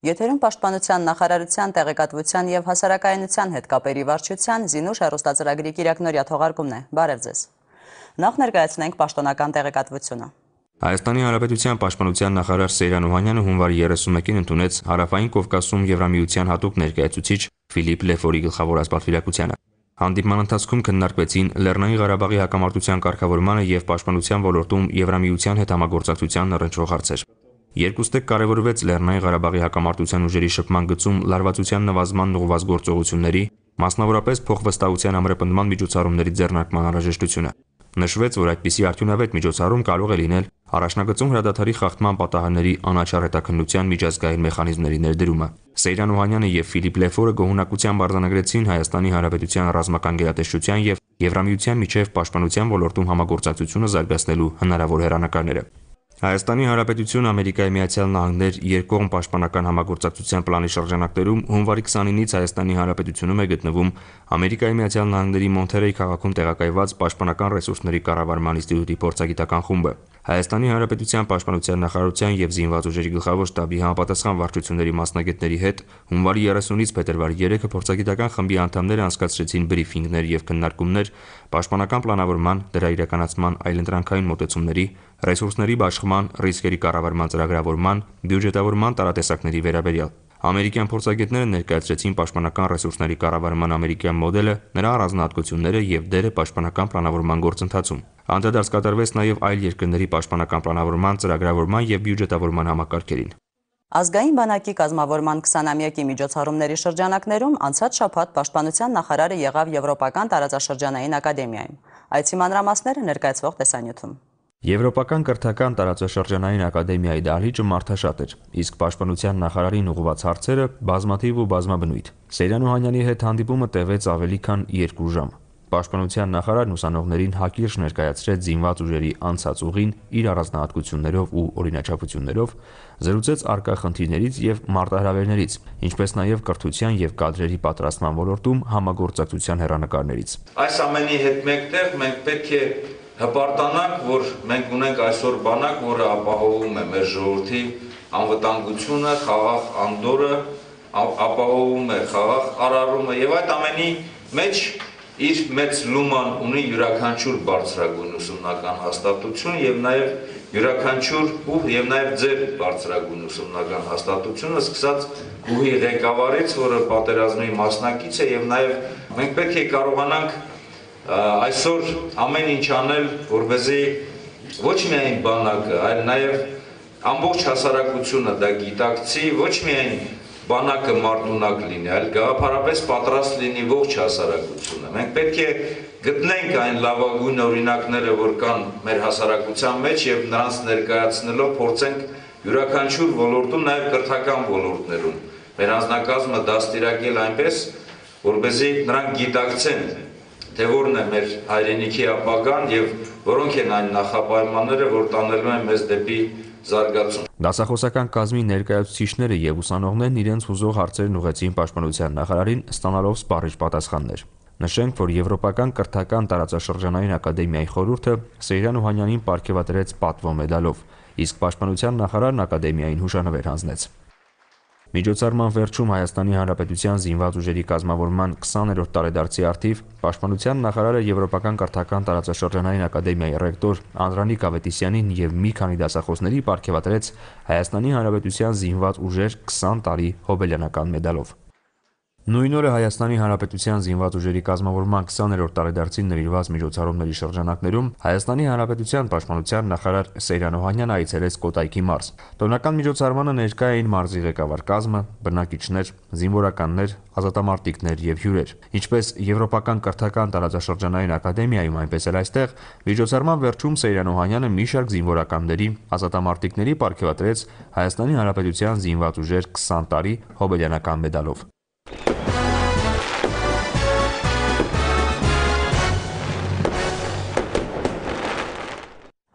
Եթերում պաշտպանության նախարարության տեղեկատվության և հասարակայնության հետ կապերի վարչության Զինուշ հեռուստածրագրի կիրակնօրյա թողարկումն է։ Բարև ձեզ։ Նախ ներկայացնենք պաշտոնական տեղեկատվությունը։ Հայաստանի Հանրապետության պաշտպանության նախարար Սեյրան Օհանյանը հունվարի 31-ին ընդունեց Հարավային Կովկասում Եվրամիության հատուկ ներկայացուցիչ Ֆիլիպ Լեֆորի գլխավորած պատվիրակությանը։ Հանդիպման ընթացքում քննարկվեցին Լեռնային Ղարաբաղի հակամարտության կարգավորմանը և պաշտպանության ոլորտում Եվրամիության հետ համագործակցությանն առնչվող հարցեր։ Երկուստեք կարևորվեց Լեռնային Ղարաբաղի հակամարտության ուժերի շփման գծում լարվածության նվազմանն ուղղված գործողությունների, մասնավորապես փոխվստահության ամրապնդման միջոցառումների ձեռնարկման անհրաժեշտությունը։ Նշվեց, որ այդպիսի արդյունավետ միջոցառում կարող է լինել առաջնագծում հրադադարի խախտման պատահարների անաչառ հետաքննության միջազգային մեխանիզմների ներդրումը։ Սեյրան Օհանյանը և Ֆիլիպ Լեֆորը գոհունակությամբ արձանագրեցին Հայաստանի Հանրապետության ռազմական գերատեսչության և Եվրամիության միջև պաշտպանության ոլորտում համագործակցությունը զարգացնելու հնարավոր հեռանկարները։ Հայաստանի Հանրապետություն Ամերիկայի Միացյալ Նահանգներ երկկողմ պաշտպանական համագործակցության պլանի շրջանակներում հունվարի 29-ից Հայաստանի Հանրապետությունում է գտնվում Ամերիկայի Միացյալ Նահանգների Մոնթերեյ քաղաքում տեղակայված Պաշտպանական ռեսուրսների կառավարման ինստիտուտի փորձագիտական խումբը։ Հայաստանի Հանրապետության պաշտպանության նախարարության և զինված ուժերի գլխավոր շտաբի համապատասխան վարչությունների մասնագետների հետ հունվարի 30-ից փետրվարի 3-ը փորձագիտական խմբի անդամները անցկացրեցին բրիֆինգներ և քննարկումներ պաշտպանական պլանավորման, դրա իրականացման այլընտրանքային մոտեցումների, ռեսուրսների բաշխման, ռիսկերի կառավարման ծրագրավորման, բյուջետավորման տարատեսակների վերաբերյալ։ Ամերիկյան փորձագետները ներկայացրեցին պաշտպանական ռեսուրսների կառավարման ամերիկյան մոդելը, նրա առանձնահատկությունները և դերը պաշտպանական պլանավորման գործընթացում։ Անդրադարձ կատարվեց նաև այլ երկրների պաշտպանական պլանավորման, ծրագրավորման և բյուջետավորման համակարգերին։ Ազգային բանակի կազմավորման 20-ամյակի միջոցառումների շրջանակներում անցած շաբաթ պաշտպանության նախարարը եղավ Եվրոպական տարածաշրջանային ակադեմիայում։ Այցի մանրամասները ներկայացվող տեսանյութում։ Եվրոպական կրթական տարածաշրջանային ակադեմիայի դահլիճը մարդաշատ էր, իսկ պաշտպանության նախարարին ուղղված հարցերը բազմաթիվ ու բազմաբնույթ։ Սեյրան Օհանյանի հետ հանդիպումը տևեց ավելի քան 2 ժամ։ Պաշտպանության նախարարն ուսանողներին հակիրճ ներկայացրեց զինված ուժերի անցած ուղին իր առանձնահատկություններով ու օրինաչափություններով, զրուցեց առկա խնդիրներից և մարտահրավերներից, ինչպես նաև կրթության և կադրերի պատրաստման ոլորտում համագործակցության հեռանկարներից։ Այս ամենի հետ մեկտեղ մենք պետք է հպարտանանք, որ մենք ունենք այսօր բանակ, որը ապահովում է մեր ժողովրդի անվտանգությունը, խաղաղ անդորրը, ապահովում է խաղաղ արարումը եւ այդ ամենի մեջ իր մեծ լուման ունի յուրաքանչյուր բարձրագույն ուսումնական հաստատություն եւ նաեւ յուրաքանչյուր եւ նաեւ ձեր բարձրագույն ուսումնական հաստատությունը, սկսած գուհի ղեկավարից, որը պատերազմի մասնակից է եւ նաեւ մենք պետք է կարողանանք այսօր ամեն ինչ անել, որպեսզի ոչ միայն բանակը, այլ նաեւ ամբողջ հասարակությունը դա գիտակցի, ոչ միայն բանակը մարտունակ լինի, այլ գաղափարապես պատրաստ լինի ողջ հասարակությունը։ Մենք պետք է գտնենք այն լավագույն օրինակները, որ կան մեր հասարակության մեջ եւ նրանց ներկայացնելով փորձենք յուրաքանչյուր ոլորտում, նաեւ կրթական ոլորտներում մեր անձնակազմը դաստիարակել այնպես, որպեսզի նրանք գիտակցեն, թե որն է մեր հայրենիքի ապագան եւ որոնք են այն նախապայմանները, որ տանելու են մեզ դեպի զարգացում։ Դասախոսական կազմի ներկայացուցիչները եւ ուսանողներն իրենց հուզող հարցերն ուղղեցին պաշտպանության նախարարին, ստանալով սպառիչ պատասխաններ։ Նշենք, որ Եվրոպական կրթական տարածաշրջանային ակադեմիայի խորհուրդը Սեյրան Օհանյանին պարգևատրեց պատվո մեդալով, իսկ պաշտպանության նախարարն ակադեմիային հուշանվեր հանձնեց։ Միջոցառման վերջում Հայաստանի Հանրապետության զինված ուժերի կազմավորման 20-րդ տարեդարձի առթիվ պաշտպանության նախարարը Եվրոպական կրթական տարածաշրջանային ակադեմիայի ռեկտոր Անդրանիկ Ավետիսյանին եւ մի քանի դասախոսների պարգևատրեց Հայաստանի Հանրապետության զինված ուժեր 20 տարի հոբելյանական մեդալով։ Նույն օրը Հայաստանի Հանրապետության զինված ուժերի կազմավորման 20-րդ տարեդարձին նվիրված միջոցառումների շրջանակներում Հայաստանի Հանրապետության պաշտպանության նախարար Սեյրան Օհանյանը այցելեց Կոտայքի մարզ։ Տոնական միջոցառմանը ներկա էին մարզի ղեկավար կազմը, բնակիչներ, զինվորականներ, ազատամարտիկներ եւ հյուրեր։ Ինչպես Եվրոպական կրթական տարածաշրջանային ակադեմիայում, այնպես էլ այստեղ միջոցառման վերջում Սեյրան Օհանյանը մի շարք զինվորականների, ազատամարտիկների պարգևատրեց Հայաստանի Հանրապետության զինված ուժեր 20 տարի հոբելյանական մեդալով։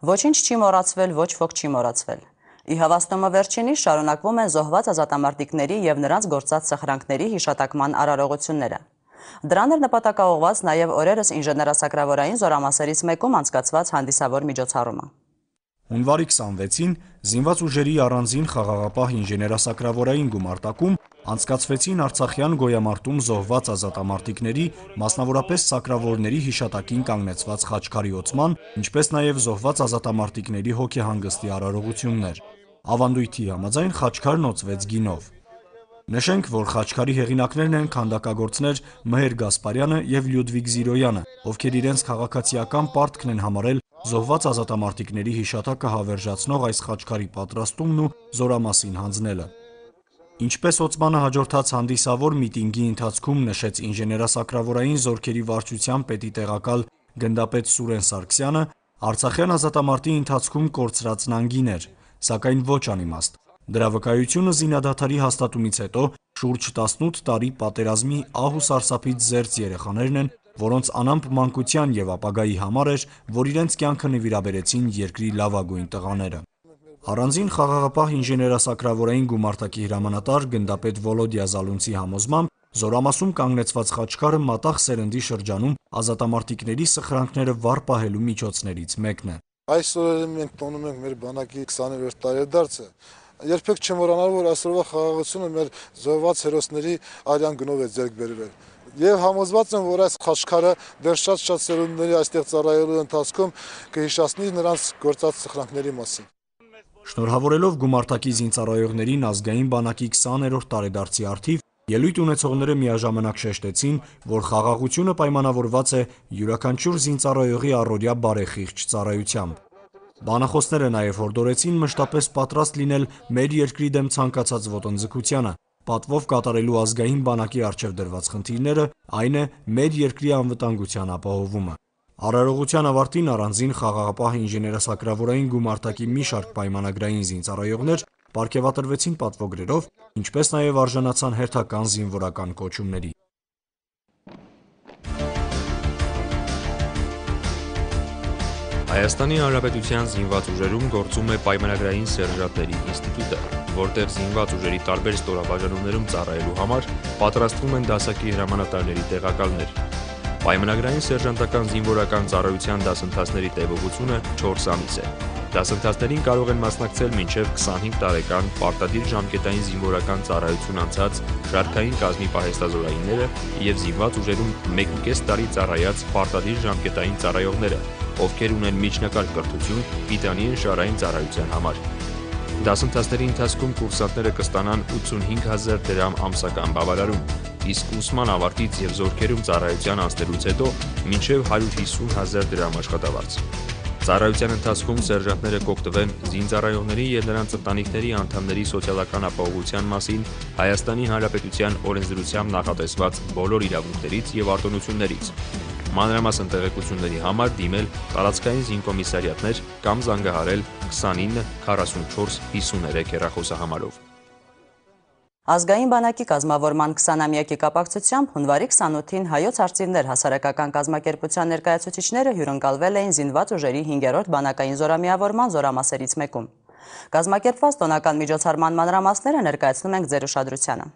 Ոչինչ չի մոռացվել, ոչ ոք չի մոռացվել։ Ի հավաստումը վերջինիս շարունակվում են զոհված ազատամարտիկների եւ նրանց գործած սխրանքների հիշատակման արարողությունները։ Դրան էր նպատակաուղղված նաեւ օրերս ինժեներասակրավորային զորամասերից մեկում անցկացված հանդիսավոր միջոցառումը։ Հունվարի 26-ին զինված ուժերի առանձին խաղաղապահ ինժեներասակրավորային գումարտակում անցկացվեցին Արցախյան գոյամարտում զոհված ազատամարտիկների, մասնավորապես սակրավորների հիշատակին կանգնեցված խաչքարի ոցման, ինչպես նաև զոհված ազատամարտիկների հոգեհանգստի արարողություններ։ Ավանդույթի համաձայն խաչքարն օծվեց գինով։ Նշենք, որ խաչքարի հեղինակներն են քանդակագործներ Մհեր Գասպարյանը եւ Լյուդվիգ Զիրոյանը, ովքեր իրենց քաղաքացիական պարտքն են համարել զոհված ազատամարտիկների հիշատակը հավերժացնող այս խաչքարի պատրաստումն ու զորամասին հանձնելը։ Ինչպես օծմանը հաջորդած հանդիսավոր միտինգի ընթացքում նշեց ինժեներասակրավորային զորքերի վարչության պետի տեղակալ գնդապետ Սուրեն Սարգսյանը, Արցախյան ազատամարտի ընթացքում կորցրածն անգին էր, սակայն ոչ անիմաստ։ Դրա վկայությունը զինադադարի հաստատումից հետո շուրջ 18 տարի պատերազմի ահ ու սարսափից զերծ երեխաներն են, որոնց անամպ մանկության եւ ապագայի համար էր, որ իրենց կյանքը նվիրաբերեցին երկրի լավագույն տղաները։ Առանձին խաղաղապահ ինժեներասակրավորային գումարտակի հրամանատար գնդապետ Վոլոդիա Զալունցի համոզմամբ զորամասում կանգնեցված խաչքարը մատաղ սերնդի շրջանում ազատամարտիկների սխրանքները վառ պահելու միջոցներից մեկն է։ Այսօր մենք տոնում ենք մեր բանակի 20-րդ տարեդարձը։ Երբեք չեմ մոռանալ, որ այսօրվա խաղաղությունը մեր զոհված հերոսների արյան գնով է ձեռք բերվել։ Եվ համոզված եմ, որ այս խաչքարը դեռ շատ սերունդների այստեղ ծառայելու ընթացքում կհիշեցնի նրանց գործած սխրանքների մասին։ Շնորհավորելով գումարտակի զինծառայողներին ազգային բանակի 20-րդ տարեդարձի առթիվ ելույթ ունեցողները միաժամանակ շեշտեցին, որ խաղաղությունը պայմանավորված է յուրաքանչյուր զինծառայողի առօրյա բարեխիղճ ծառայությամբ։ Բանախոսները նաև հորդորեցին մշտապես պատրաստ լինել մեր երկրի դեմ ցանկացած ոտնձգությանը, պատվով կատարելու ազգային բանակի առջև դրված խնդիրները, այն է մեր երկրի անվտանգության ապահովումը։ Արարողության ավարտին առանձին խաղաղապահ ինժեներասակրավորային գումարտակի մի շարք պայմանագրային զինծառայողներ պարգևատրվեցին պատվոգրերով, ինչպես նաև արժանացան հերթական զինվորական կոչումների։ Հայաստանի Հանրապետության զինված ուժերում գործում է պայմանագրային սերժանտների ինստիտուտը, որտեղ զինված ուժերի տարբեր ստորաբաժանումներում ծառայելու համար պատրաստվում են դասակի հրամանատարների տեղակալներ։ Պայմանագրային սերժանտական զինվորական ծառայության դասընթացների տևողությունը 4 ամիս է։ Դասընթացներին կարող են մասնակցել մինչև 25 տարեկան պարտադիր ժամկետային զինվորական ծառայություն անցած շարքային կազմի պահեստազորայինները և զինված ուժերում 1,5 տարի ծառայած պարտադիր ժամկետային ծառայողները, ովքեր ունեն միջնակարգ կրթություն պիտանի ընշարային ծառայության համար։ Դասընթացների ընթացքում կուրսանտները կստանան 85,000 դրամ ամսական բավարարում, իսկ ուսման ավարտից և զորքերում ծառայության անցնելուց հետո մինչև 150,000 դրամ աշխատավարձ։ Ծառայության ընթացքում սերժանտները կօգտվեն զինծառայողների և նրանց ընտանիքների անդամների սոցիալական ապահովության մասին Հայաստանի Հանրապետության օրենսդրությամբ նախատեսված բոլոր իրավունքներից և արտոնություններից։ Մանրամասն տեղեկությունների համար դիմել տարածքային զինկոմիսարիատներ կամ զանգահարել 29 44 53 հեռախոսահամարով։ Ազգային բանակի կազմավորման 20-ամյակի կապակցությամբ հունվարի 28-ին հայոց արծիվներ հասարակական կազմակերպության ներկայացուցիչները հյուրընկալվել էին զինված ուժերի 5-րդ բանակային զորամիավորման զորամասերից մեկում։ Կազմակերպված տոնական միջոցառման մանրամասները ներկայացնում ենք ձեր ուշադրությանը։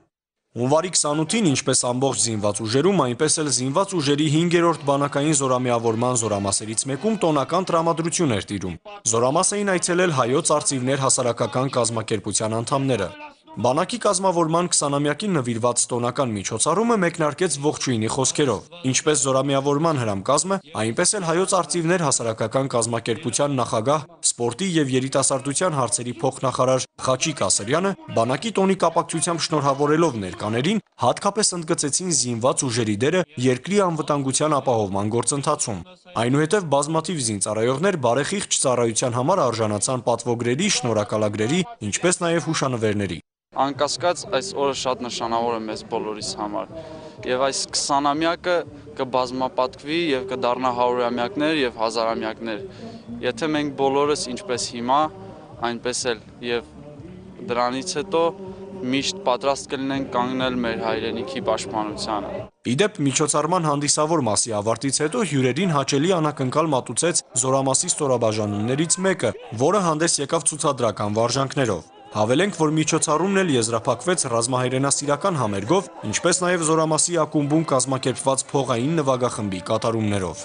Հունվարի 28-ին, ինչպես ամբողջ զինված ուժերում, այնպես էլ զինված ուժերի 5-րդ բանակային զորամիավորման զորամասերից մեկում տոնական տրամադրություն էր տիրում։ Զորամաս էին այցելել հայոց արծիվներ հասարակական կազմակերպության անդամները։ Բանակի կազմավորման 20-ամյակին նվիրված տոնական միջոցառումը մեկնարկեց ողջույնի խոսքերով։ Ինչպես զորամիավորման հրամկազմը, այնպես էլ հայոց արծիվներ հասարակական կազմակերպության նախագահ, սպորտի և երիտասարդության հարցերի փոխնախարար Խաչիկ Ասրյանը բանակի տոնի կապակցությամբ շնորհավորելով ներկաներին, հատկապես ընդգծեցին զինված ուժերի դերը երկրի անվտանգության ապահովման գործընթացում։ Այնուհետև բազմաթիվ զինծառայողներ բարեխիղճ ծառայության համար արժանացան պատվոգրերի, շնորհակալագրերի, ինչպես նաև հուշանվերների։ Անկասկած այս օրը շատ նշանավոր է մեզ բոլորիս համար եւ այս 20-ամյակը կբազմապատկվի եւ կդառնա 100-ամյակներ եւ 1000-ամյակներ։ Եթե մենք բոլորս ինչպես հիմա, այնպես էլ եւ դրանից հետո միշտ պատրաստ կլինենք կանգնել մեր հայրենիքի պաշտպանությանը։ Իդեպ միջոցառման հանդիսավոր մասի ավարտից հետո հյուրերին հաճելի անակնկալ մատուցեց զորամասի ստորաբաժանումներից մեկը, որը հանդես եկավ ցուցադրական վարժանքներով։ Հավելենք, որ միջոցառումն էլ եզրափակվեց ռազմահայրենասիրական համերգով, ինչպես նաև զորամասի ակումբում կազմակերպված փողային նվագախմբի կատարումներով։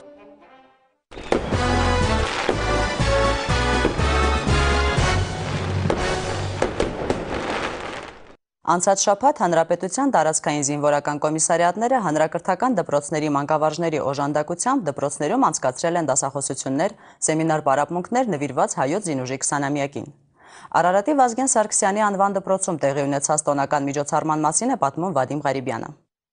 Անցած շաբաթ Հանրապետության տարածքային զինվորական կոմիսարիատները հանրակրթական դպրոցների մանկավարժների օժանդակությամբ դպրոցներում անցկացրել են դասախոսություններ, սեմինար պարապմունքներ նվիրված հայոց զինուժի 20-ամյակին։ Արարատի Վազգեն Սարգսյանի անվան դպրոցում տեղի ունեցած տոնական միջոցառման մասին է պատմում Վադիմ Ղարիբյանը։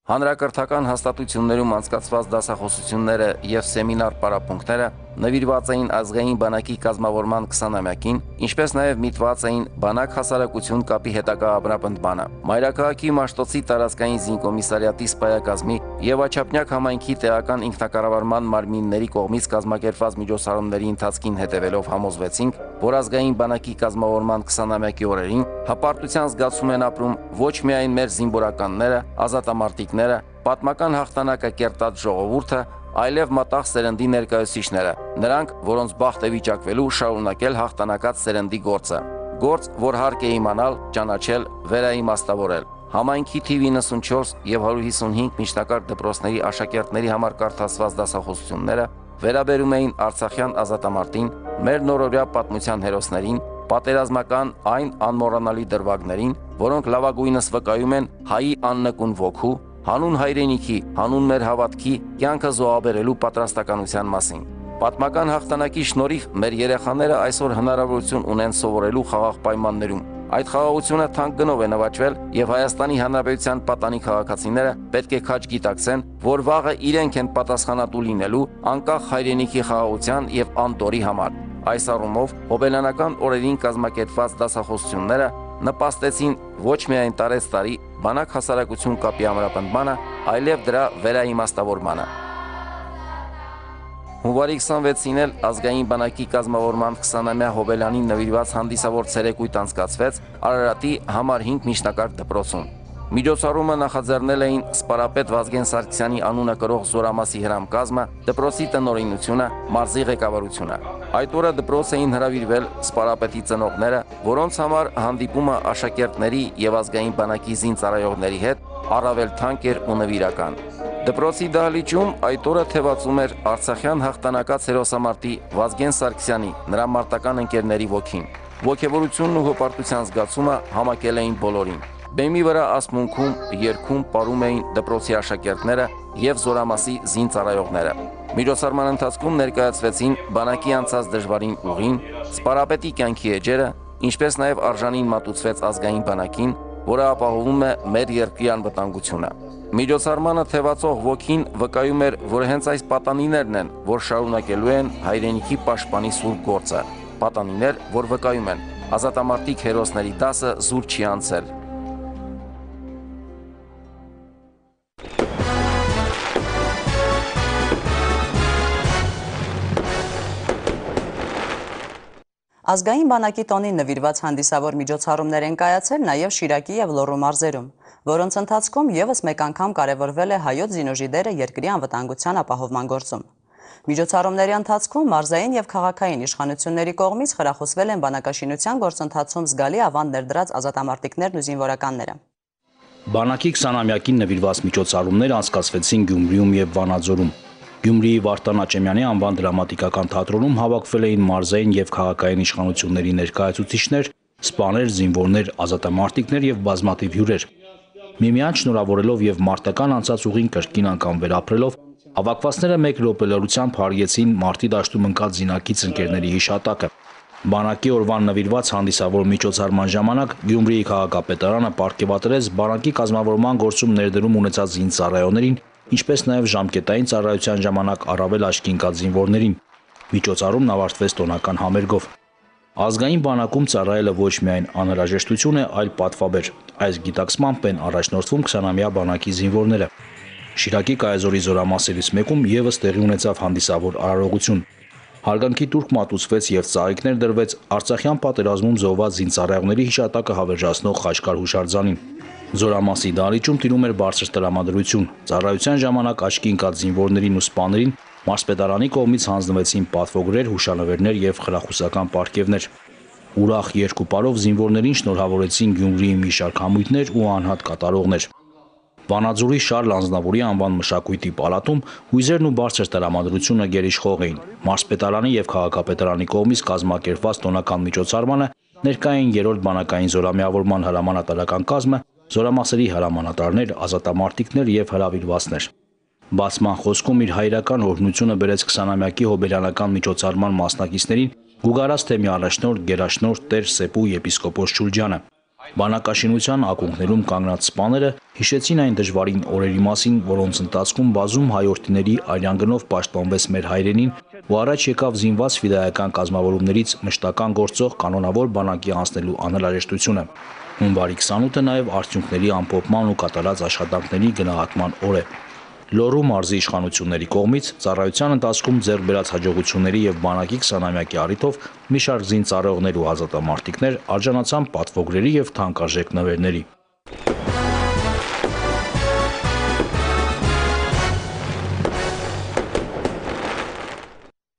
Հանրակրթական հաստատություններում անցկացված դասախոսությունները եւ սեմինար պարապմունքները նվիրված էին ազգային բանակի կազմավորման 20-ամյակին, ինչպես նաև միտված էին բանակ հասարակություն կապի հետագա ամրապնդմանը։ Մայրաքաղաքի Մաշտոցի տարածքային զինկոմիսարիատի սպայակազմի եւ Աչափնյակ համայնքի տեղական ինքնակառավարման մարմինների կողմից կազմակերպված միջոցառումների ընթացքին հետևելով համոզվեցինք, որ ազգային բանակի կազմավորման 20-ամյակի օրերին հպարտության զգացում են ապրում ոչ միայն մեր զինվորականները, ազատամարտիկները, պատմական հաղթանակը կերտած ժողովուրդը, այլև մտաղ սերնդի ներկայացուցիչները, նրանք, որոնց բախտ է վիճակվելու շարունակել հաղթանակած սերնդի գործը։ Գործ, որ հարկ է իմանալ, ճանաչել, վերաիմաստավորել։ Համայնքի թիվ 94 եւ 155 միջնակարգ դպրոցների աշակերտների համար կարդացված դասախոսությունները վերաբերում էին Արցախյան ազատամարտին, մեր նորօրյա պատմության հերոսներին, պատերազմական այն անմոռանալի դրվագներին, որոնք լավագույնս վկայում են հայի աննկուն ոգու, հանուն հայրենիքի, հանուն մեր հավատքի կյանքը զոհաբերելու պատրաստականության մասին։ Պատմական հաղթանակի շնորհիվ մեր երեխաները այսօր հնարավորություն ունեն սովորելու խաղաղ պայմաններում։ Այդ խաղաղությունը թանկ գնով է նվաճվել եւ Հայաստանի Հանրապետության պատանի քաղաքացիները պետք է քաջ գիտակցեն, որ վաղը իրենք են պատասխանատու լինելու անկախ հայրենիքի խաղաղության եւ անդորի համար։ Այս առումով հոբելյանական օրերին կազմակերպված դասախոսությունները նպաստեցին ոչ միայն տարեցտարի բանակ հասարակություն կապի ամրապնդմանը, այլև դրա վերաիմաստավորմանը։ Հունվարի 26-ին էլ ազգային բանակի կազմավորման 20-ամյա հոբելյանին նվիրված հանդիսավոր ցերեկույթ անցկացվեց Արարատի համար 5 միջնակարգ դպրոցում։ Միջոցառումը նախաձեռնել էին սպարապետ Վազգեն Սարգսյանի անունը կրող Զորամասի հրամկազմը, դպրոցի տնօրինությունը, մարզի ղեկավարությունը։ Այդ օրը դպրոց էին հրավիրվել սպարապետի ծնողները, որոնց համար հանդիպումը աշակերտների եւ ազգային բանակի զինծառայողների հետ առավել թանկ էր ու նվիրական։ Դպրոցի դահլիճում այդ օրը թևածում էր Արցախյան հաղթանակած հերոսամարտի Վազգեն Սարգսյանի, նրա մարտական ընկերների ոգին։ Ոգևորությունն ու հպարտության զգացումը համակել էին բոլորին։ Բեմի վրա ասմունքում, երգում պարում էին դպրոցի աշակերտները եւ Զորամասի զինծառայողները։ Միջոցառման ընթացքում ներկայացվեցին բանակի անցած դժվարին ուղին, սպարապետի կյանքի էջերը, ինչպես նաեւ արժանին մատուցվեց ազգային բանակին, որը ապահովում է մեր երկրի անվտանգությունը։ Միջոցառմանը թևածող ոգին վկայում էր, որ հենց այս պատանիներն են, որ շարունակելու են հայրենիքի պաշտպանի սուրբ գործը։ Պատանիներ, որ վկայում են, ազատամարտիկ հերոսների դասը զուր չի անցել։ Ազգային բանակի տոնին նվիրված հանդիսավոր միջոցառումներ են կայացել նաև Շիրակի եւ Լոռու մարզերում, որոնց ընթացքում եւս մեկ անգամ կարևորվել է հայոց զինուժի դերը երկրի անվտանգության ապահովման գործում։ Միջոցառումների ընթացքում մարզային եւ քաղաքային իշխանությունների կողմից խրախուսվել են բանակաշինության գործընթացում զգալի ավանդ ներդրած ազատամարտիկներն ու զինվորականները։ Բանակի 20-ամյակին նվիրված միջոցառումներ անցկացվեցին Գյումրիում եւ Վանաձորում։ Գյումրիի Վարդան Աճեմյանի անվան դրամատիկական թատրոնում հավաքվել էին մարզային եւ քաղաքային իշխանությունների ներկայացուցիչներ, սպաներ, զինվորներ, ազատամարտիկներ եւ բազմաթիվ հյուրեր։ Միմյանց շնորհավորելով եւ մարտական անցած ուղին կրկին անգամ վերապրելով, հավաքվածները մեկ րոպելորությամբ հարգեցին մարտի դաշտում ընկած զինակից ընկերների հիշատակը։ Բանակի օրվան նվիրված հանդիսավոր միջոցառման ժամանակ Գյումրիի քաղաքապետարանը պարգևատրեց բանակի կազմավորման գործում ներդրում ունեցած զինծառայողներին, ինչպես նաև ժամկետային ծառայության ժամանակ առավել աչքի ընկած զինվորներին։ Միջոցառումն ավարտվեց տոնական համերգով։ Ազգային բանակում ծառայելը ոչ միայն անհրաժեշտություն է, այլ պատվաբեր։ Այս գիտակցմամբ են առաջնորդվում 20-ամյա բանակի զինվորները։ Շիրակի կայազորի զորամասերից մեկում եւս տեղի ունեցավ հանդիսավոր արարողություն։ Հարգանքի տուրք մատուցվեց եւ ծաղիկներ դրվեց Արցախյան պատերազմում զոհված զինծառայողների հիշատակը հավերժացնող Խաչկար հուշարձանին։ Զորամասի դահլիճում տիրում էր բարձր տրամադրություն։ Ծառայության ժամանակ աչքի ընկած զինվորներին ու սպաներին մարզպետարանի կողմից հանձնվեցին պատվոգրեր, հուշանվերներ եւ խրախուսական պարգևներ։ Ուրախ երկուպարով զինվորներին շնորհավորեցին Գյումրիի մի շարք համույթներ ու անհատ կատարողներ։ Վանաձորի Շարլ Անձնավորի անվան մշակույթի պալատում հույզերն ու բարձր տրամադրությունը գերիշխող էին։ Մարզպետարանի եւ քաղաքապետարանի կողմից կազմակերպված տոնական միջոցառմանը ներկային երրորդ բանակային զորամիավորման հրամանատարական կազմը, զորամասերի հրամանատարներ, ազատամարտիկներ եւ հրավիրվածներ։ Բացման խոսքում իր հայրական օրհնությունը բերեց 20-ամյակի հոբելյանական միջոցառման մասնակիցներին Գուգարաց թեմի առաջնորդ Գերաշնորհ Տեր Սեպու եպիսկոպոս Շուրջյանը։ Բանակաշինության ակունքներում կանգնած սպաները հիշեցին այն դժվարին օրերի մասին, որոնց ընթացքում բազում հայորդիների արյանգնով պաշտպանվեց մեր հայրենին ու առաջ եկավ զինված ֆիդայական կազմավորումներից մշտական գործող կանոնավոր բանակի անցնելու անհրաժեշտությունը։ Հունվարի 28-ը նաև արդյունքների ամփոփման ու կատարած աշխատանքների գնահատման օր է։ Լոռու մարզի իշխանությունների կողմից ծառայության ընթացքում ձեռք բերած հաջողությունների եւ բանակի 20-ամյակի առիթով մի շարք զինծառայողներ ու ազատամարտիկներ արժանացան պատվոգրերի եւ թանկարժեք նվերների։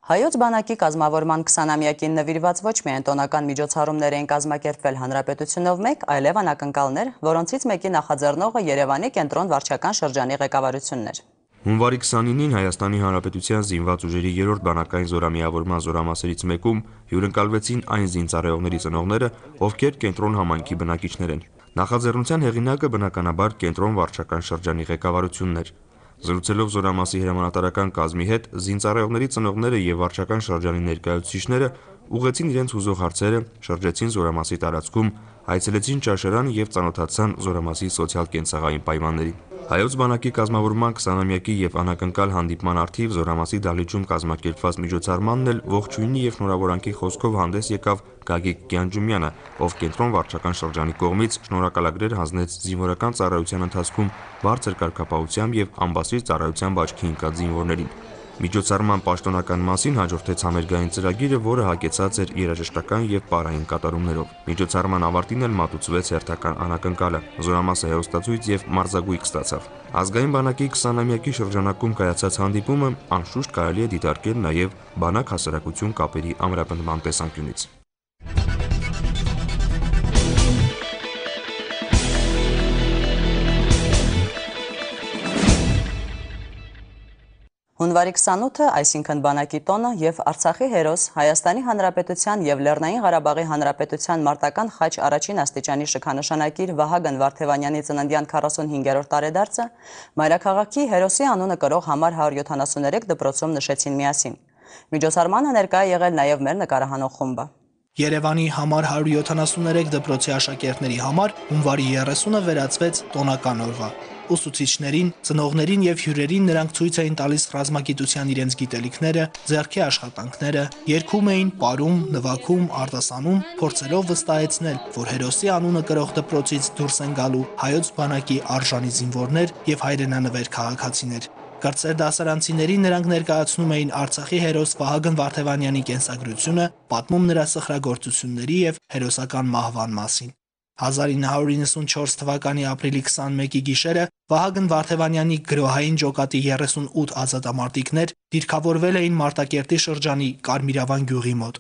Հայոց բանակի կազմավորման 20-ամյակին նվիրված ոչ միայն տոնական միջոցառումներ էին կազմակերպվել հանրապետությունով մեկ, այլև անակնկալներ, որոնցից մեկի նախաձեռնողը Երևանի կենտրոն վարչական շրջանի ղեկավարությունն էր։ Հունվարի 29-ին Հայաստանի Հանրապետության զինված ուժերի 3-րդ բանակային զորամիավորման զորամասերից մեկում հյուրընկալվեցին այն զինծառայողների ծնողները, ովքեր կենտրոն համայնքի բնակիչներ են։ Նախաձեռնության հեղինակը բնականաբար կենտրոն վարչական շրջանի ղեկավարությունն էր։ Զրուցելով զորամասի հրամանատարական կազմի հետ, զինծառայողների ծնողները եւ վարչական շրջանի ներկայացուցիչները ուղղեցին իրենց հուզող հարցերը, շրջեցին զորամասի տարածքում, այցելեցին ճաշարան եւ ծանոթացան զորամասի սոցիալ-կենցաղային պայմաններին։ Հայոց բանակի կազմավորման 20-ամյակի եւ անակնկալ հանդիպման առթիվ զորամասի դահլիճում կազմակերպված միջոցառմանն էլ ողջույնի եւ շնորհավորանքի խոսքով հանդես եկավ Գագիկ Գյանջումյանը, ով կենտրոն վարչական շրջանի կողմից շնորհակալագրեր հանձնեց զինվորական ծառայության ընթացքում բարձր կարգապահությամբ եւ ամբասիր ծառայության աչքի ընկած զինվորներին։ Միջոցառման պաշտոնական մասին հաջորդեց համերգային ծրագիրը, որը հագեցած էր երաժշտական եւ պարային կատարումներով։ Միջոցառման ավարտին էլ մատուցվեց հերթական անակնկալը։ Զորամասը հերոստացույց եւ մարզագույք ստացավ։ Ազգային բանակի 20-ամյակի շրջանակում կայացած հանդիպումը անշուշտ կարելի է դիտարկել նաեւ բանակ-հասարակություն կապերի ամրապնդման տեսանկյունից։ Հունվարի 28-ը, այսինքն բանակի տոնը եւ Արցախի հերոս Հայաստանի Հանրապետության եւ Լեռնային Ղարաբաղի Հանրապետության մարտական խաչ առաջին աստիճանի շքանշանակիր Վահագն Վարդևանյանի ծննդյան 45-րդ տարեդարձը մայրաքաղաքի հերոսի անունը կրող համար 173 դպրոցում նշեցին միասին։ Միջոցառմանը ներկա է եղել նաեւ մեր նկարահանող խումբը։ Երևանի համար 173 դպրոցի աշակերտների համար հունվարի 30-ը վերածվեց տոնական օրվա։ Ուսուցիչներին, ծնողներին եւ հյուրերին նրանք ցույց էին տալիս ռազմագիտության իրենց գիտելիքները, ձեռքի աշխատանքները, երգում էին, պարում, նվագում, արտասանում, փորձելով վստահեցնել, որ հերոսի անունը կրող դպրոցից դուրս են գալու հայոց բանակի արժանի զինվորներ եւ հայրենանվեր քաղաքացիներ։ Կրտսեր դասարանցիներին նրանք ներկայացնում էին Արցախի հերոս Վահագն Վարդևանյանի կենսագրությունը, պատմում նրա սխրագործությունների եւ հերոսական մահվան մասին։ 1994 թվականի ապրիլի 21-ի գիշերը Վահագն Վարդևանյանի գրոհային ջոկատի 38 ազատամարտիկներ դիրքավորվել էին Մարտակերտի շրջանի Կարմիրավան գյուղի մոտ։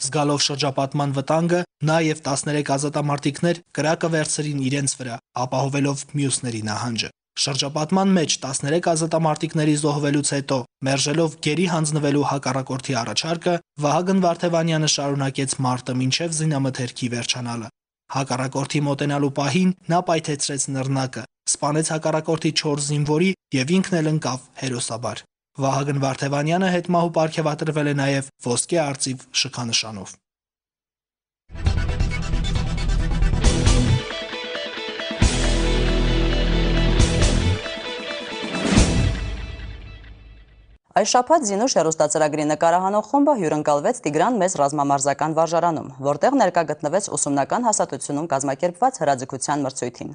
Զգալով շրջապատման վտանգը, նա եւ 13 ազատամարտիկներ կրակը վերցրին իրենց վրա, ապահովելով մյուսների նահանջը։ Շրջապատման մեջ 13 ազատամարտիկների զոհվելուց հետո, մերժելով գերի հանձնվելու հակառակորդի առաջարկը, Վահագն Վարդևանյանը շարունակեց մարտը մինչև զինամթերքի վերջանալը։ Հակառակորդի մոտենալու պահին նա պայթեցրեց նռնակը, սպանեց հակառակորդի 4 զինվորի եւ ինքն էլ ընկավ հերոսաբար։ Վահագն Վարդևանյանը հետմահու պարգևատրվել է նաեւ ոսկե արծիվ շքանշանով։ Այս շաբաթ Զինուշ հեռուստածրագրի նկարահանող խումբը հյուրընկալվեց Տիգրան մեծ ռազմամարզական վարժարանում, որտեղ ներկա գտնվեց ուսումնական հասարակությունում կազմակերպված հրաձգության մրցույթին։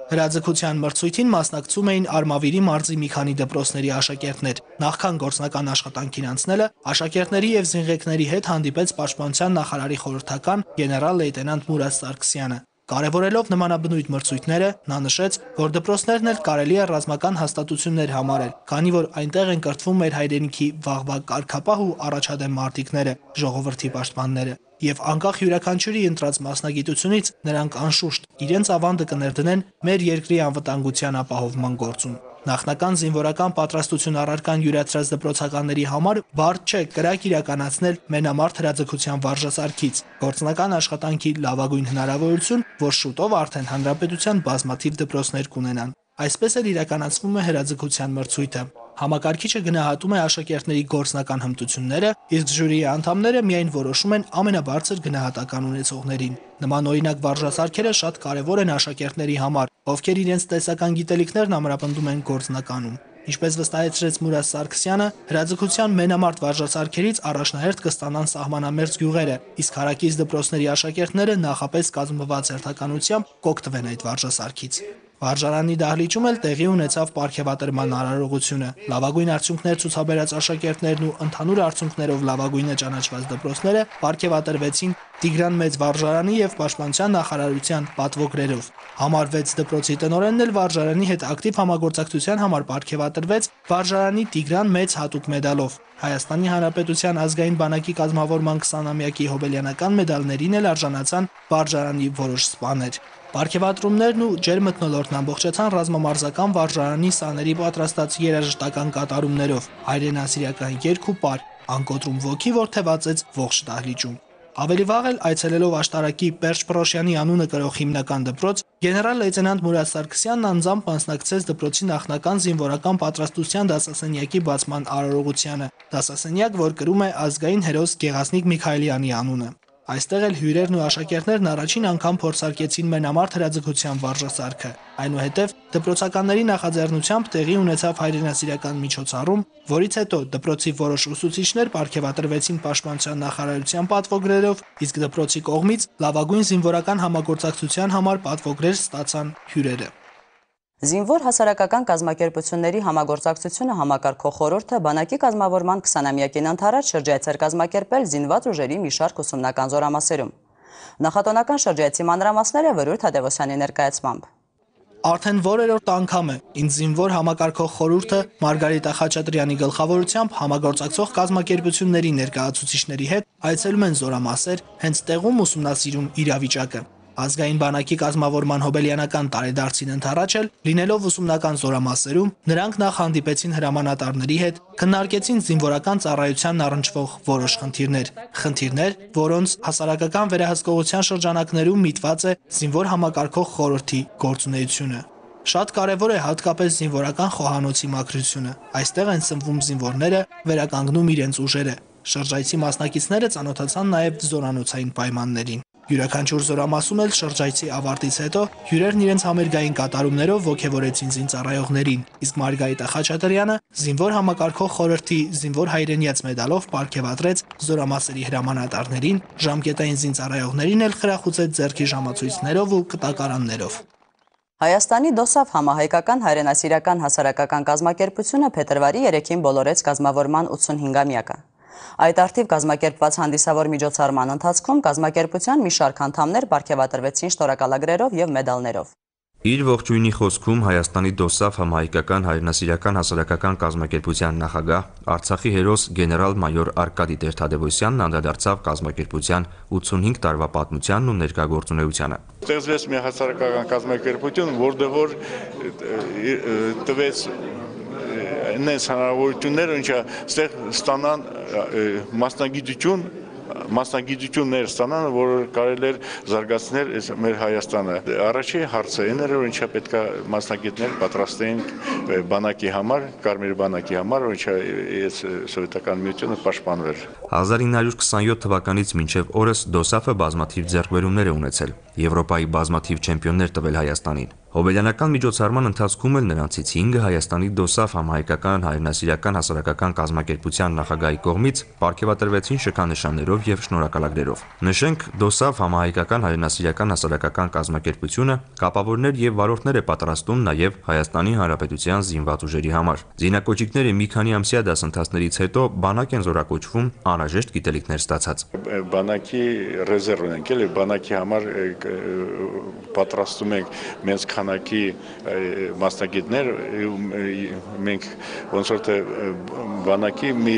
Հրաձգության մրցույթին մասնակցում էին Արմավիրի մարզի մի քանի դպրոցների աշակերտներ։ Նախքան գործնական աշխատանքին անցնելը աշակերտների եւ զինղեկների հետ հանդիպեց Պաշտպանության նախարարի խորհրդական գեներալ լեյտենանտ Մուրադ Սարգսյանը։ Կարևորելով նմանաբնույթ մրցույթները, նա նշեց, որ դպրոցներն էլ կարելի է ռազմական հաստատություններ համարել, քանի որ այնտեղ են կրթվում մեր հայրենիքի վաղվա կարգապահ ու առաջադեմ մարտիկները, ժողովրդի պաշտպանները, եւ անկախ յուրաքանչյուրի ընտրած մասնագիտությունից նրանք անշուշտ իրենց ավանդը կներդնեն մեր երկրի անվտանգության ապահովման գործում։ Նախնական զինվորական պատրաստություն առարկան յուրացրած դպրոցականների համար բարդ չէ կրակ իրականացնել մենամարտ հրաձգության վարժասարքից։ Գործնական աշխատանքի լավագույն հնարավորություն, որ շուտով արդեն հանրապետության բազմաթիվ դպրոցներ կունենան։ Այսպես էլ իրականացվում է հրաձգության մրցույթը։ Համակարգիչը գնահատում է աշակերտների գործնական հմտությունները, իսկ ժյուրիի անդամները միայն որոշում են ամենաբարձր գնահատական ունեցողներին։ Նման օրինակ վարժասարքերը շատ կարևոր են աշակերտների համար, ովքեր իրենց տեսական գիտելիքներն ամրապնդում են գործնականում։ Ինչպես վստահեցրեց Մուրադ Սարգսյանը, հրաձգության մենամարտ վարժասարքերից առաջնահերթ կստանան սահմանամերձ գյուղերը, իսկ հարակից դպրոցների աշակերտները նախապես կազմված հերթականությամբ կօգտվեն այդ վարժասարքից։ Վարժարանի դահլիճում էլ տեղի ունեցավ պարգևատրման արարողությունը։ Լավագույն արդյունքներ ցուցաբերած աշակերտներն ու ընդհանուր արդյունքներով լավագույնը ճանաչված դպրոցները պարգևատրվեցին Տիգրան Մեծ վարժարանի եւ Պաշտպանության նախարարության պատվոգրերով։ Համար 6 դպրոցի տնօրենն էլ վարժարանի հետ ակտիվ համագործակցության համար պարգևատրվեց վարժարանի Տիգրան Մեծ հատուկ մեդալով։ Հայաստանի Հանրապետության ազգային բանակի կազմավորման 20-ամյակի հոբելյանական մեդալներին էլ արժանացան վարժարանի որոշ սպաներ։ Պարգևատրումներն ու ջերմմթնոլորտն ամբողջացան ռազմամարզական վարժարանի սաների պատրաստած երաժշտական կատարումներով, հայրենասիրական երգ ու պար, անկոտրում ոգի, որ թևածեց ողջ դահլիճում։ Ավելի վաղ էլ այցելելով աշտարակի Պերճ Պրոշյանի անունը կրող հիմնական դպրոց, գեներալ լեյտենանտ Մուրադ Սարգսյանն անձամբ մասնակցեց դպրոցի նախնական զինվորական պատրաստության դասասենյակի բացման արարողությանը, դասասենյակ, որ կրում է ազգային հերոս Գեղազնիկ Միքայելյանի անունը։ Այստեղ էլ հյուրերն ու աշակերտներն առաջին անգամ փորձարկեցին մենամարտ հրաձգության վարժասարքը։ Այնուհետև դպրոցականների նախաձեռնությամբ տեղի ունեցավ հայրենասիրական միջոցառում, որից հետո դպրոցի որոշ ուսուցիչներ պարգևատրվեցին Պաշտպանության նախարարության պատվոգրերով, իսկ դպրոցի կողմից լավագույն զինվորական համագործակցության համար պատվոգրեր ստացան հյուրերը։ Զինվոր հասարակական կազմակերպությունների համագործակցությունը համակարգող խորհուրդը բանակի կազմավորման 20-ամյակին ընթരാճ շրջայցեր կազմակերպել զինված ուժերի մի շարք ուսումնական զորամասերում։ Նախատոնական շրջայցի մանրամասները Վրույթ Թադևոսյանի ներկայացմամբ։ Արդեն որերորդ անգամ է ինձ զինվոր համակարգող խորհուրդը Մարգարիտա Խաչատրյանի գլխավորությամբ համագործակցող կազմակերպությունների ներկայացուցիչների հետ այցելում են զորամասեր, հենց տեղում ուսումնասիրում իրավիճակը։ Ազգային բանակի կազմավորման հոբելյանական տարեդարձին ընթരാճ էլ լինելով ուսումնական զորամասերում, նրանք նախ հանդիպեցին հրամանատարների հետ, քննարկեցին զինվորական ծառայությանն առնչվող որոշ խնդիրներ, որոնց հասարակական վերահսկողության շրջանակներում միտված է զինվոր համակարգող խորհրդի գործունեությունը։ Շատ կարևոր է հատկապես զինվորական խոհանոցի մաքրությունը։ Այստեղ են սնվում զինվորները, վերականգնում իրենց ուժերը։ Շրջայցի մասնակիցները ծանոթացան նաև զորանոցային պայմաններին։ Յուրաքանչյուր զորամասում էլ շրջայցի ավարտից հետո հյուրերն իրենց համերգային կատարումներով ոգևորեցին զինծառայողներին, իսկ Մարգարիտա Խաչատրյանը զինվոր համակարգող խորհրդի զինվոր հայրենիաց մեդալով պարգևատրեց զորամասերի հրամանատարներին, ժամկետային զինծառայողներին էլ խրախուսեց ձեռքի ժամացույցներով ու կտակարաններով։ Հայաստանի DOSAF համահայկական հայրենասիրական հասարակական կազմակերպությունը փետրվարի 3-ին բոլորեց կազմավորման 85-ամյակը։ Այդ արդիվ կազմակերպված հանդիսավոր միջոցառման ընթացքում կազմակերպության մի շարք անդամներ պարգևատրվեցին շնորհակալագրերով եւ մեդալներով։ Իր ողջույնի խոսքում Հայաստանի DOSAF համահայկական հայրենասիրական հասարակական կազմակերպության նախագահ Արցախի հերոս գեներալ-մայոր Արկադի Տեր-Թադևոսյանն անդրադարձավ կազմակերպության 85 տարվա պատմությանն ու ներկայ Ստեղծվեց մի հասարակական կազմակերպություն, որտեղ որ տվեց նենց հնարավորություններ, ինչը ստանան մասնագիտություններ ստանան, որ կարելի էր զարգացնել մեր Հայաստանը։ Առաջի հարցը այն էր, որ ինչա պետք է մասնագետներ պատրաստեին բանակի համար, Կարմիր բանակի համար, ինչա սովետական միությունը պաշտպանվեր։ 1927 թվականից մինչև օրս DOSAF-ը բազմաթիվ ձեռքբերումներ է ունեցել, Եվրոպայի բազմաթիվ չեմպիոններ տվել Հայաստանին։ Հոբելյանական միջոցառման ընթացքում էլ նրանցից 5-ը Հայաստանի DOSAF համահայկական հայրենասիրական հասարակական կազմակերպության նախագահի կողմից պարգևատրվեցին շքանշաններով եւ շնորհակալագրերով։ Նշենք, DOSAF համահայկական հայրենասիրական հասարակական կազմակերպությունը կապավորներ եւ վարորդներ է պատրաստում նաեւ Հայաստանի Հանրապետության զինված ուժերի համար։ Զինակոչիկները մի քանի ամսյա դասընթացներից հետո բանակ են զորակոչվում անհրաժեշտ գիտելիքներ ստացած։ Բանակի ռեզերվն ենք, էլի բանակի համար պատրաստում ենք մեծ քանակի մասնագետներ, մենք ոնց որ թե բանակի մի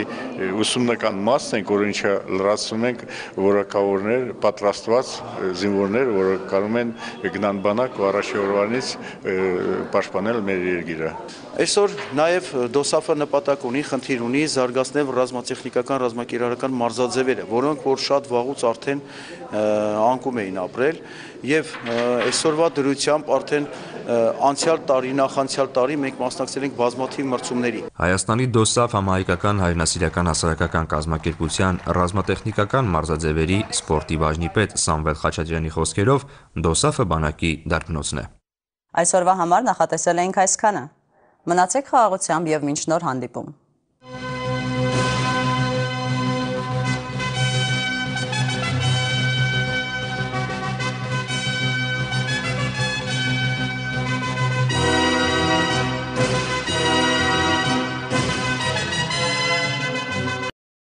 ուսումնական մաս ենք, որ ինչա լրացնում ենք որակավորներ, պատրաստված զինվորներ, որը կարող են գնան բանակ ու առաջի օրվանից պաշտպանել մեր երկիրը։ Այսօր նաև DOSAF-ը նպատակ ունի, խնդիր ունի զարգացնել ռազմատեխնիկական, ռազմակիրառական մարզաձևերը, որոնք որ շատ վաղուց արդեն անկում էին ապրել եւ այսօրվա դրությամբ արդեն անցյալ տարի, նախանցյալ տարի մենք մասնակցել ենք բազմաթիվ մրցումների։ Հայաստանի DOSAF համահայկական հայրենասիրական հասարակական կազմակերպության ռազմատեխնիկական մարզաձևերի սպորտի բաժնի պետ Սամվել Խաչատրյանի խոսքերով DOSAF-ը բանակի դարբնոցն է։ Այսօրվա համար նախատեսել էինք այսքանը։ Մնացեք խաղաղությամբ եւ մինչ նոր հանդիպում։